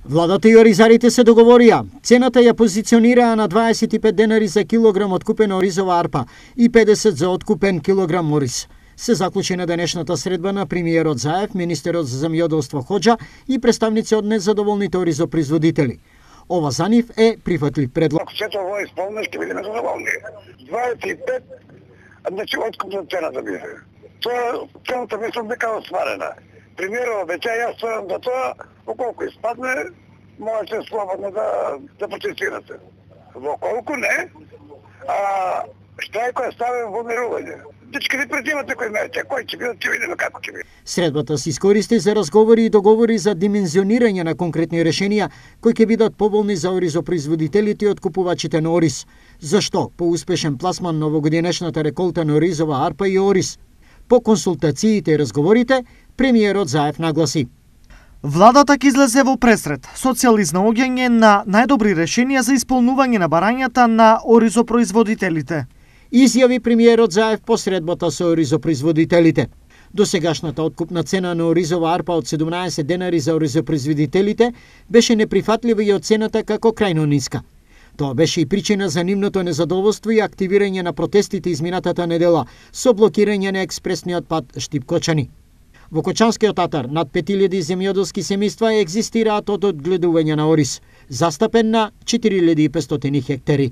Владата и оризарите се договорија. Цената ја позиционираа на 25 денари за килограм откупена оризова арпа и 50 за откупен килограм ориз. Се заклучи на денешната средба на премиерот Заев, министерот за земјоделство Хоџа и представници од незадоволните оризопроизводители. Ова за нив е прифатлив предлог. Ако сето ово исполни, ќе бидеме задоволни. 25, значи откупна цената биде. Тоа цената мислам дека остварена. Премиерот обеќа, јас стварам за тоа, околку испадне, можете слободно да протестирате. Околку не, штрајкот е ставен во мирување. Дечки не предимате кој мерите, кој ќе бидат, ќе видиме како ќе биде. Средбата се искористи за разговори и договори за димензионирање на конкретни решенија кои ќе бидат поволни за оризопроизводителите и откупувачите на ориз. Зашто? По успешен пласман на овогодинешната реколта на оризова арпа и ориз. По консултациите и разговорите, премиерот Заев нагласи: Владата ќе излезе во пресред со цел изнаоѓање на најдобри решенија за исполнување на барањата на оризопроизводителите. Изјави премиерот Заев по средбата со оризопроизводителите. Досегашната откупна цена на оризова арпа од 17 денари за оризопроизводителите беше неприфатлива и оцената како крајно ниска. Тоа беше и причина за нивното незадоволство и активирање на протестите изминатата недела со блокирање на експресниот пат Штип-Кочани. Во Кочанскиот атар над 5000 земјоделски семејства екзистираат од одгледување на ориз, застапен на 4500 хектари.